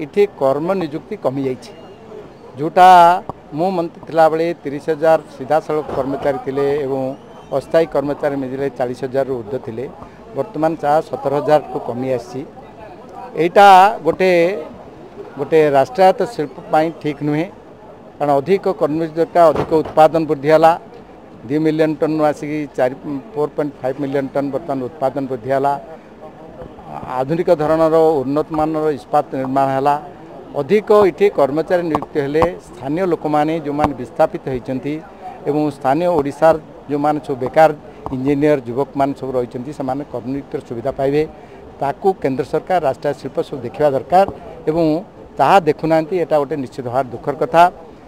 ଏଠି କର୍ମ ନିଯୁକ୍ତି କମିଯାଇଛି। ଯେଉଁଟା ମୁଁ ମନ୍ତ୍ରୀ ଥିଲାବେଳେ 30,000 ସିଧାସଳଖ କର୍ମଚାରୀ ଥିଲେ ଏବଂ ଅସ୍ଥାୟୀ କର୍ମଚାରୀ ମିଳିଲେ 40,000ରୁ ଉର୍ଦ୍ଧ୍ୱ ଥିଲେ, ବର୍ତ୍ତମାନ ତାହା 17,000କୁ କମି ଆସିଛି। ଏଇଟା ଗୋଟେ ରାଷ୍ଟ୍ରାୟତ୍ତ ଶିଳ୍ପ ପାଇଁ ଠିକ୍ ନୁହେଁ, କାରଣ ଅଧିକ କର୍ମଚାରୀ ଦରକାର। ଅଧିକ ଉତ୍ପାଦନ ବୃଦ୍ଧି ହେଲା, 2 ମିଲିୟନ ଟନ୍ରୁ ଆସିକି 4, 4.5 ମିଲିୟନ ଟନ୍ ବର୍ତ୍ତମାନ ଉତ୍ପାଦନ ବୃଦ୍ଧି ହେଲା। ଆଧୁନିକ ଧରଣର ଉନ୍ନତମାନର ଇସ୍ପାତ ନିର୍ମାଣ ହେଲା। ଅଧିକ ଏଠି କର୍ମଚାରୀ ନିଯୁକ୍ତି ହେଲେ ସ୍ଥାନୀୟ ଲୋକମାନେ ଯେଉଁମାନେ ବିସ୍ଥାପିତ ହୋଇଛନ୍ତି ଏବଂ ସ୍ଥାନୀୟ ଓଡ଼ିଶାର ଯେଉଁମାନେ ସବୁ ବେକାର ଇଞ୍ଜିନିୟର ଯୁବକମାନେ ସବୁ ରହିଛନ୍ତି, ସେମାନେ କର୍ମନିଯୁକ୍ତିର ସୁବିଧା ପାଇବେ। ତାକୁ କେନ୍ଦ୍ର ସରକାର, ରାଷ୍ଟ୍ରାୟତ୍ତ ଶିଳ୍ପ ସବୁ ଦେଖିବା ଦରକାର ଏବଂ ତାହା ଦେଖୁନାହାନ୍ତି। ଏଇଟା ଗୋଟେ ନିଶ୍ଚିତ ଭାବରେ ଦୁଃଖର କଥା।